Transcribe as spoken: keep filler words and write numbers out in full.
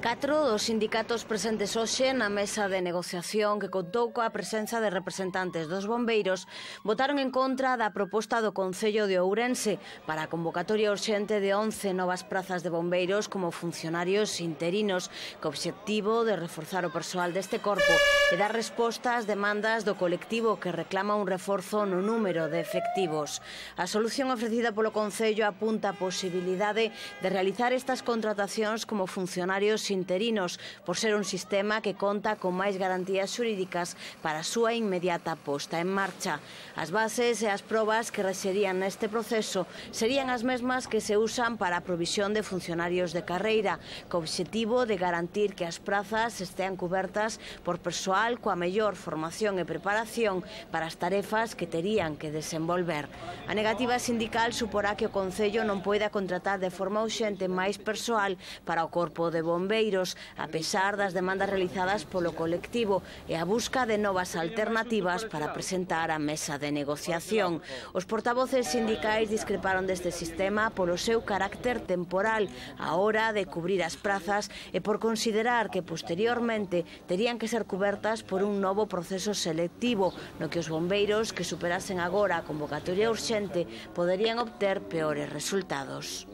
Catro dos sindicatos presentes hoxe na mesa de negociación que contou coa presenza de representantes dos bombeiros votaron en contra da proposta do Concello de Ourense para a convocatoria urxente de once novas prazas de bombeiros como funcionarios interinos, co obxectivo de reforzar o persoal deste corpo e dar resposta ás demandas do colectivo que reclama un reforzo no número de efectivos. A solución ofrecida polo Concello apunta a posibilidade de realizar estas contratacións como funcionarios interinos, por ser un sistema que conta con máis garantías xurídicas para a súa inmediata posta en marcha. As bases e as probas que rexerían neste proceso serían as mesmas que se usan para a provisión de funcionarios de carreira, co obxectivo de garantir que as prazas estean cubertas por persoal coa mellor formación e preparación para as tarefas que terían que desenvolver. A negativa sindical suporá que o Concello non poida contratar de forma urxente máis persoal para o corpo de bombeiros, a pesar das demandas realizadas polo colectivo e a busca de novas alternativas para presentar a mesa de negociación. Os portavoces sindicais discreparon deste sistema polo seu carácter temporal á hora de cubrir as prazas e por considerar que posteriormente terían que ser cubertas por un novo proceso selectivo no que os bombeiros que superasen agora a convocatoria urxente poderían obter peores resultados.